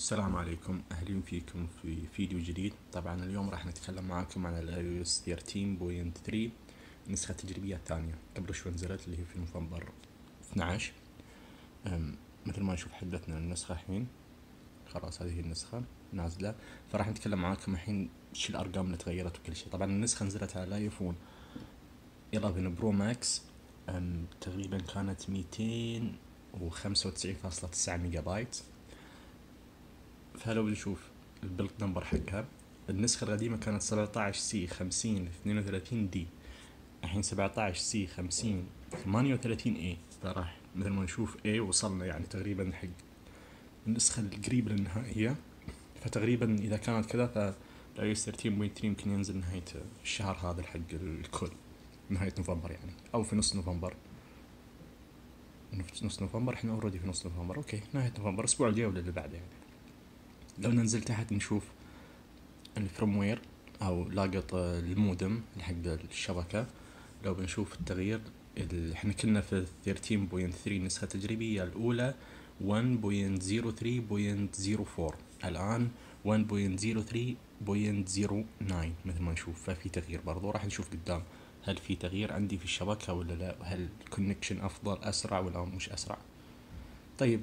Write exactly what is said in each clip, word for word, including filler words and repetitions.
السلام عليكم، أهلا فيكم في فيديو جديد. طبعا اليوم راح نتكلم معاكم عن ال آي أو إس ثلاثة عشر نقطة ثلاثة النسخة التجريبية الثانية. قبل شوي نزلت اللي هي في نوفمبر اثني عشر. مثل ما نشوف حدثنا النسخة الحين، خلاص هذه النسخة نازلة. فراح نتكلم معاكم الحين شو الأرقام اللي تغيرت وكل شيء. طبعا النسخة نزلت على الايفون إحدى عشر برو ماكس، تقريبا كانت مئتين وخمسة وتسعين فاصلة تسعة ميجا بايت. فلو نشوف البيلد نمبر حقها، النسخة القديمة كانت سبعة عشر سي خمسين اثنين وثلاثين دي، الحين سبعة عشر سي خمسين ثمانية وثلاثين اي. فراح مثل ما نشوف اي وصلنا يعني تقريبا حق النسخة القريبة للنهائية. فتقريبا إذا كانت كذا فال آي أو إس ثلاثة عشر نقطة ثلاثة يمكن ينزل نهاية الشهر هذا حق الكل، نهاية نوفمبر يعني، أو في نص نوفمبر. نص نوفمبر احنا اوريدي في نص نوفمبر، اوكي نهاية نوفمبر، الأسبوع الجاي ولا اللي بعده يعني. لو ننزل تحت نشوف الفيرموير او لاقط المودم حق الشبكة. لو بنشوف التغيير، احنا كنا في ثلاثة عشر نقطة ثلاثة النسخة التجريبية الأولى واحد نقطة صفر ثلاثة نقطة صفر أربعة، الآن واحد نقطة صفر ثلاثة نقطة صفر تسعة مثل ما نشوف. ففي تغيير برضو، راح نشوف قدام هل في تغيير عندي في الشبكة ولا لا، هل الكونكشن أفضل أسرع ولا مش أسرع. طيب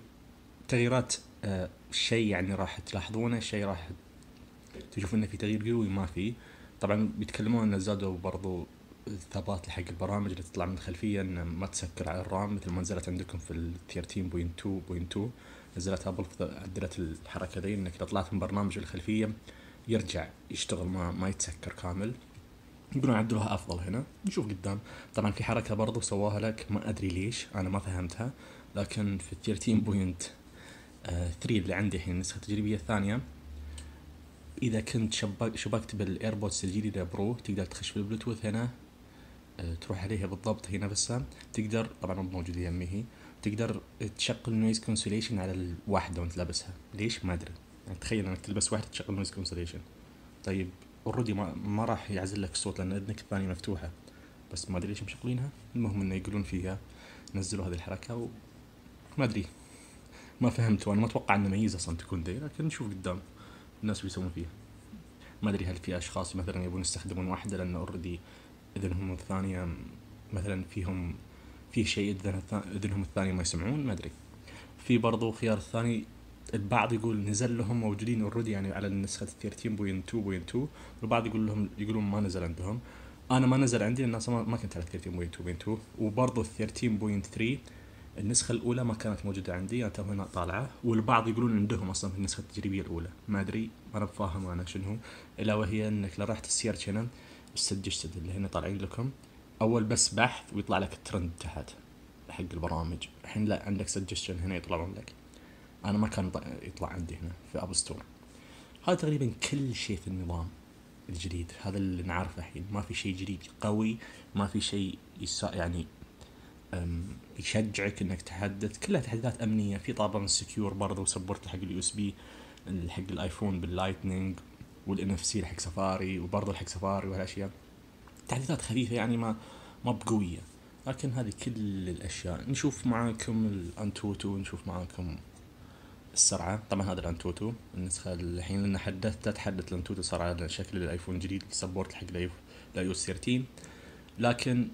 تغييرات، آه شيء يعني راح تلاحظونه، شيء راح تشوف انه في تغيير قوي ما في. طبعا بيتكلمون ان زادوا برضو الثبات حق البرامج اللي تطلع من الخلفيه، ان ما تسكر على الرام مثل ما نزلت عندكم في ال ثلاثة عشر نقطة اثنين نقطة اثنين. نزلت ابل عدلت الحركه ذي، انك اذا طلعت من برنامج الخلفيه يرجع يشتغل ما ما يتسكر كامل. يقولون عدلوها افضل هنا. نشوف قدام. طبعا في حركه برضو سواها لك، ما ادري ليش انا ما فهمتها، لكن في ثلاثة عشر نقطة ثلاثة اللي عندي الحين النسخه التجريبيه الثانيه، اذا كنت شبك شبكت بالايربودز الجديده برو تقدر تخش بالبلوتوث هنا، أه تروح عليها بالضبط هنا بس تقدر، طبعا مو موجوده يمي هي، تقدر تشغل نويز كونسوليشن على الواحده وانت لابسها. ليش ما ادري يعني، تخيل انك تلبس واحده تشغل نويز كونسوليشن. طيب اوريدي ما, ما راح يعزل لك الصوت لان اذنك الثانيه مفتوحه، بس ما ادري ليش مشغلينها. المهم انه يقولون فيها نزلوا هذه الحركه وما ادري، ما فهمت، وانا ما اتوقع ان ميزه اصلا تكون دي، لكن نشوف قدام الناس بيسوون فيها. ما ادري هل في اشخاص مثلا يبون يستخدمون واحده لان اوريدي اذنهم الثانيه مثلا فيهم في شيء اذنهم الثانيه ما يسمعون، ما ادري. في برضو خيار الثاني، البعض يقول نزل لهم موجودين اوريدي يعني على النسخه ثلاثة عشر نقطة اثنين نقطة اثنين، والبعض يقول لهم يقولون ما نزل عندهم. انا ما نزل عندي لان اصلا ما كنت على ثلاثة عشر نقطة اثنين نقطة اثنين، وبرضو ثلاثة عشر نقطة ثلاثة النسخة الأولى ما كانت موجودة عندي، أنا هنا طالعة، والبعض يقولون عندهم أصلا في النسخة التجريبية الأولى. ما أدري، أنا بفاهم أنا شنو. إلا وهي إنك لو رحت السيرش هنا السجستد اللي هنا طالعين لكم، أول بس بحث ويطلع لك الترند تحت حق البرامج. الحين لا، عندك سجستشن هنا يطلعون لك. أنا ما كان يطلع عندي هنا في أب ستور. هذا تقريبا كل شيء في النظام الجديد، هذا اللي نعرفه الحين. ما في شيء جديد قوي، ما في شيء يسا يعني يشجعك انك تحدث. كلها تحديثات امنيه. في طابع سكيور برضه وسبورت حق اليو اس بي حق الايفون باللايتنينج، والان اف سي حق سفاري، وبرضه حق سفاري وهالاشياء. تحديثات خفيفه يعني، ما ما بقويه، لكن هذه كل الاشياء. نشوف معاكم الانتوتو، نشوف معاكم السرعه. طبعا هذا الانتوتو النسخه الحين لان حدثت تحدث الانتوتو صار على شكل الايفون الجديد، سبورت حق الاي او اس ثلاثة عشر، لكن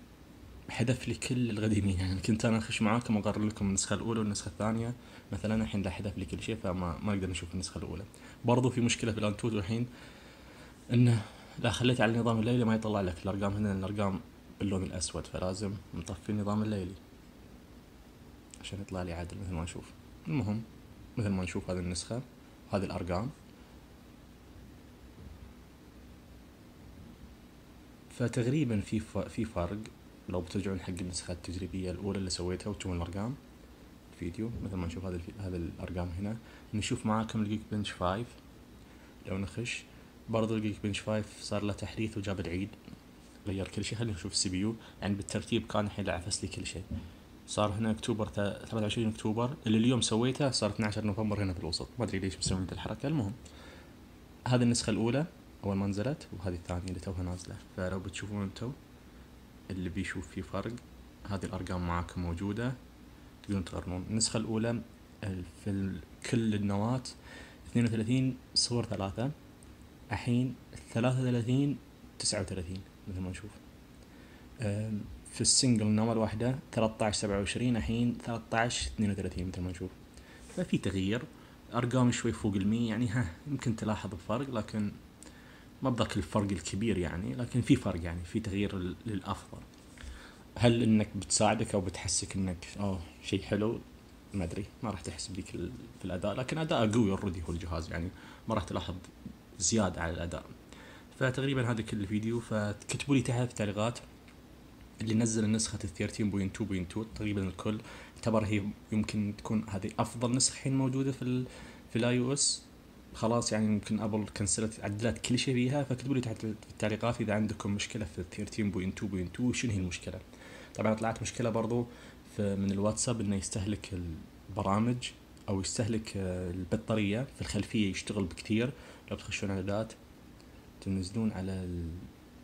حذف لي كل القديمين. يعني كنت انا اخش معاكم اقرر لكم النسخه الاولى والنسخه الثانيه مثلا، الحين لا حذف لي كل شيء، فما ما نقدر نشوف النسخه الاولى. برضو في مشكله في الانتوتو الحين، انه لا خليت على النظام الليلي ما يطلع لك الارقام هنا، الارقام باللون الاسود، فلازم نطفي النظام الليلي عشان يطلع لي عدل مثل ما نشوف. المهم مثل ما نشوف هذه النسخه، هذه الارقام. فتقريبا في في فرق. لو بترجعون حق النسخة التجريبية الأولى اللي سويتها وتشوفون الأرقام الفيديو مثل ما نشوف هذه هذه الأرقام هنا. نشوف معاكم الجيك بنش خمسة. لو نخش برضو الجيك بنش خمسة صار له تحديث وجاب العيد، غير كل شيء. خلينا نشوف السي بي يو يعني بالترتيب، كان الحين عفس لي كل شيء. صار هنا أكتوبر ثلاثة وعشرين أكتوبر اللي اليوم سويته، صار اثني عشر نوفمبر هنا في الوسط. ما أدري ليش مسوين الحركة. المهم هذه النسخة الأولى أول ما نزلت، وهذه الثانية اللي توها نازلة. فلو بتشوفون انتو اللي بيشوف فيه فرق، هذه الأرقام معاكم موجودة، تقدرون تقارنون. النسخة الأولى في كل النواة اثنين وثلاثين صفر ثلاثة، الحين ثلاثة وثلاثين تسعة وثلاثين مثل ما نشوف. في السنجل نمر واحدة ثلاثة عشر سبعة وعشرين، الحين ثلاثة عشر اثنين وثلاثين مثل ما نشوف. ففي تغيير، أرقام شوي فوق المية يعني، ها يمكن تلاحظ الفرق، لكن ما بذاك الفرق الكبير يعني، لكن في فرق يعني، في تغيير للأفضل. هل إنك بتساعدك أو بتحسك إنك آه شيء حلو؟ ما أدري، ما راح تحس بذيك في الأداء، لكن أداء قوي أوريدي هو الجهاز يعني، ما راح تلاحظ زيادة على الأداء. فتقريبا هذا كل الفيديو، فتكتبوا لي تحت في التعليقات اللي نزل النسخة ثلاثة عشر نقطة اثنين نقطة اثنين. تقريبا الكل اعتبر هي يمكن تكون هذه أفضل نسخة الحين موجودة في ال في الاي او اس. خلاص يعني يمكن ابل كنسلت عدلت كل شيء فيها. فاكتبوا لي تحت في التعليقات اذا عندكم مشكله في ثلاثة عشر نقطة اثنين نقطة اثنين شنو هي المشكله. طبعا طلعت مشكله برضو في من الواتساب انه يستهلك البرامج او يستهلك البطاريه في الخلفيه، يشتغل بكثير. لو تخشون اعدادات تنزلون على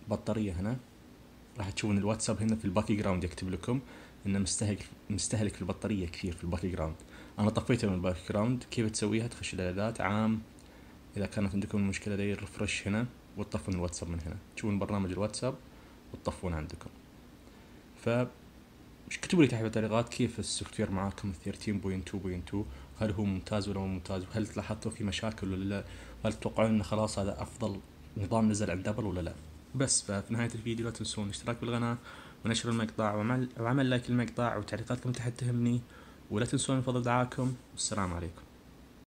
البطاريه هنا راح تشوفون الواتساب هنا في الباك جراوند يكتب لكم انه مستهلك مستهلك في البطاريه كثير في الباك جراوند. انا طفيته من الباك جراوند. كيف تسويها؟ تخش الاعدادات عام، اذا كانت عندكم المشكله دي ريفرش هنا وتطفون الواتساب من هنا، تشوفون برنامج الواتساب وتطفون عندكم. ف كتبوا لي تحت التعليقات كيف السوفت وير معاكم ثلاثة عشر نقطة اثنين نقطة اثنين، هل هو ممتاز ولا مو ممتاز، وهل لاحظتوا في مشاكل ولا لا، وهل تتوقعون انه خلاص هذا افضل نظام نزل عند ابل ولا لا. بس ففي نهايه الفيديو لا تنسون الاشتراك بالقناه ونشر المقطع وعمل وعمل لايك المقطع، وتعليقاتكم تحت تهمني، ولا تنسون فضل دعاكم. والسلام عليكم.